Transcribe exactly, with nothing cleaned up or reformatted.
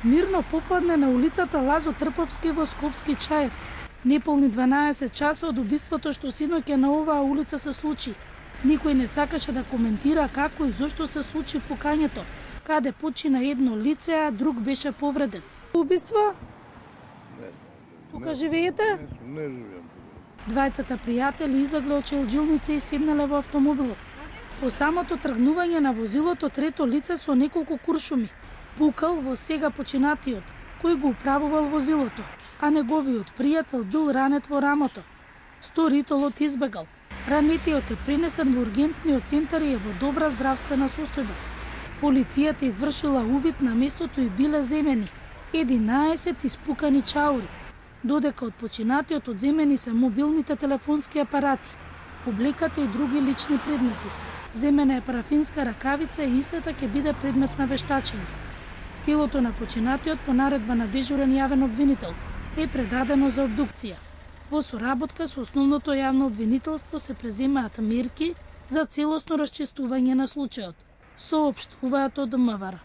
Мирно попладне на улицата Лазо Трповски во Скопски Чаир. Неполни дванаесет часа од убиството што синоќа на оваа улица се случи. Никој не сакаше да коментира како и зошто се случи пукањето, каде почина едно лице, а друг беше повреден. Убиство? Не. Тука не, живеете? Не, не живеам. Двајцата пријатели излегле од челџилница и седнале во автомобилот. По самото тргнување на возилото трето лице со неколку куршуми пукал во сега починатиот, кој го управувал возилото, а неговиот пријател бил ранет во рамото. Сторителот избегал. Ранетиот е пренесен во ургентниот центар и е во добра здравствена состојба. Полицијата извршила увид на местото и биле земени единаесет испукани чаури, додека од починатиот одземени се мобилните телефонски апарати, облеката и други лични предмети. Земена е парафинска ракавица и истата ќе биде предмет на вештачење. Телото на починатиот по наредба на дежурен јавен обвинител е предадено за обдукција. Во соработка со основното јавно обвинителство се преземаат мерки за целосно расчистување на случајот, соопштуваат од МВР.